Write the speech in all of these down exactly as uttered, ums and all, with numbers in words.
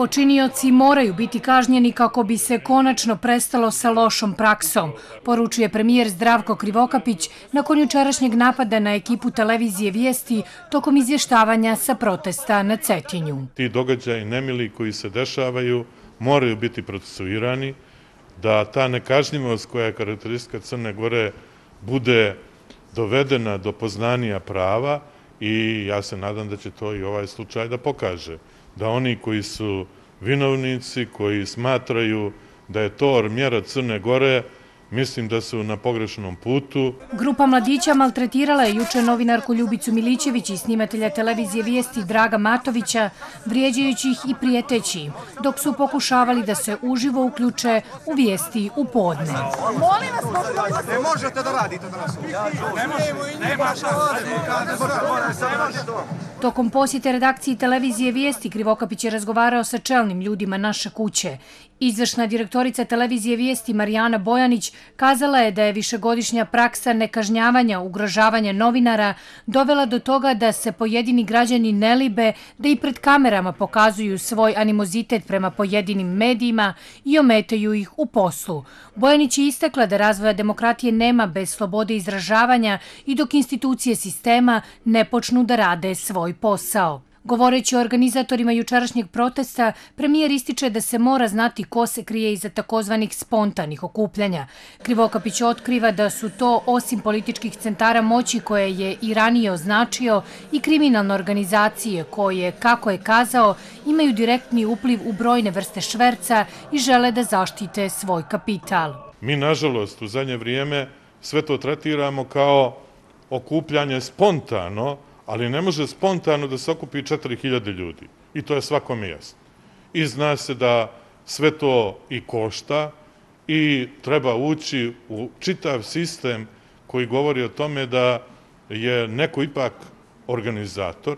Počinioci moraju biti kažnjeni kako bi se konačno prestalo sa lošom praksom, poručuje premijer Zdravko Krivokapić nakon jučerašnjeg napada na ekipu televizije Vijesti tokom izvještavanja sa protesta na Cetinju. Ti događaji nemili koji se dešavaju moraju biti procesuirani, da ta nekažnjivost koja je karakteristika Crne Gore bude dovedena do poznanja prava i ja se nadam da će to i ovaj slučaj da pokaže. Da oni koji su vinovnici, koji smatraju da je to mjera Crne Gore, mislim da su na pogrešnom putu. Grupa mladića maltretirala je juče novinarku Ljubicu Milićević i snimatelja televizije Vijesti Draga Matovića, vrijeđajući ih i prijeteći im, dok su pokušavali da se uživo uključe u Vijesti u podne. Molim vas, ne možete da radite danas. Ne možete. Tokom posjete redakciji televizije Vijesti, Krivokapić je razgovarao sa čelnim ljudima naše kuće. Izvršna direktorica televizije Vijesti Marijana Bojanić kazala je da je višegodišnja praksa nekažnjavanja, ugrožavanja novinara dovela do toga da se pojedini građani ne libe da i pred kamerama pokazuju svoj animozitet prema pojedinim medijima i ometaju ih u poslu. Bojanić je istakla da razvoja demokratije nema bez slobode izražavanja i dok institucije sistema ne počnu da rade svoj posao. Govoreći o organizatorima jučerašnjeg protesta, premijer ističe da se mora znati ko se krije iza takozvanih spontanih okupljanja. Krivokapić otkriva da su to, osim političkih centara moći koje je i ranije označio, i kriminalne organizacije koje, kako je kazao, imaju direktni upliv u brojne vrste šverca i žele da zaštite svoj kapital. Mi, nažalost, u zadnje vrijeme sve to tretiramo kao okupljanje spontano, ali ne može spontano da se okupi četiri hiljade ljudi. I to je svakome jasno. I zna se da sve to i košta i treba ući u čitav sistem koji govori o tome da je neko ipak organizator,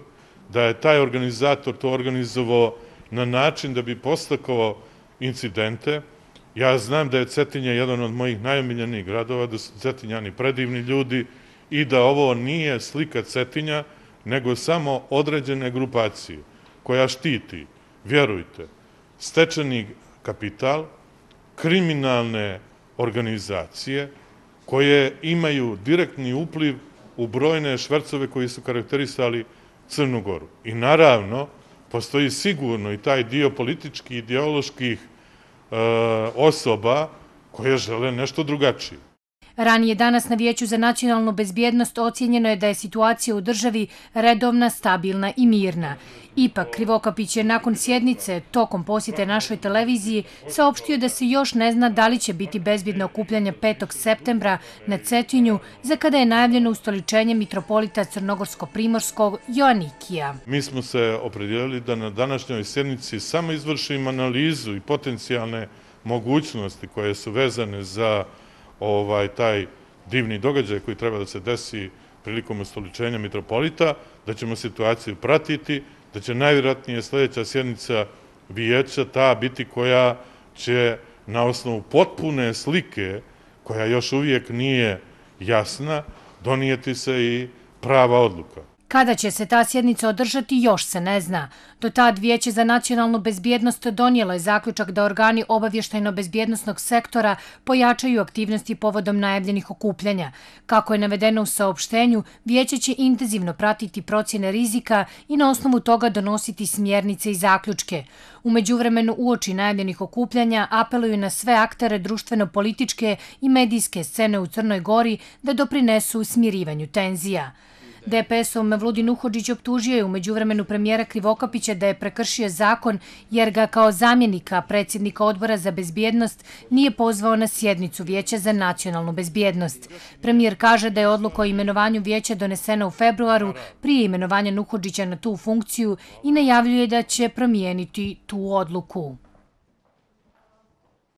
da je taj organizator to organizovao na način da bi postakao incidente. Ja znam da je Cetinje jedan od mojih najomiljenijih gradova, da su Cetinjani predivni ljudi i da ovo nije slika Cetinja, nego samo određene grupacije koja štiti, vjerujte, stečeni kapital, kriminalne organizacije koje imaju direktni upliv u brojne švercove koji su karakterisali Crnu Goru. I naravno, postoji sigurno i taj dio političkih, ideoloških osoba koje žele nešto drugačije. Ranije danas na Vijeću za nacionalnu bezbjednost ocijenjeno je da je situacija u državi redovna, stabilna i mirna. Ipak, Krivokapić je nakon sjednice, tokom posjete našoj televiziji, saopštio da se još ne zna da li će biti bezbjedno okupljanje petog septembra na Cetinju, za kada je najavljeno ustoličenje mitropolita Crnogorsko-Primorskog Joanikija. Mi smo se opredijelili da na današnjoj sjednici samo izvršimo analizu i potencijalne mogućnosti koje su vezane za ovaj taj divni događaj koji treba da se desi prilikom ustoličenja mitropolita, da ćemo situaciju pratiti, da će najvjerojatnije sljedeća sjednica vijeća ta biti koja će na osnovu potpune slike, koja još uvijek nije jasna, donijeti se i prava odluka. Kada će se ta sjednica održati, još se ne zna. Do tad Vijeće za nacionalnu bezbjednost donijelo je zaključak da organi obavještajno-bezbjednostnog sektora pojačaju aktivnosti povodom najavljenih okupljanja. Kako je navedeno u saopštenju, Vijeće će intenzivno pratiti procjene rizika i na osnovu toga donositi smjernice i zaključke. U međuvremenu, uoči najavljenih okupljanja apeluju na sve aktere društveno-političke i medijske scene u Crnoj Gori da doprinesu smirivanju tenzija. D P S-ov Mevludin Uhodžić optužio je u međuvremenu premijera Krivokapića da je prekršio zakon jer ga kao zamjenika predsjednika Odbora za bezbjednost nije pozvao na sjednicu Vijeća za nacionalnu bezbjednost. Premijer kaže da je odluka o imenovanju vijeća donesena u februaru prije imenovanja Uhodžića na tu funkciju i najavljuje da će promijeniti tu odluku.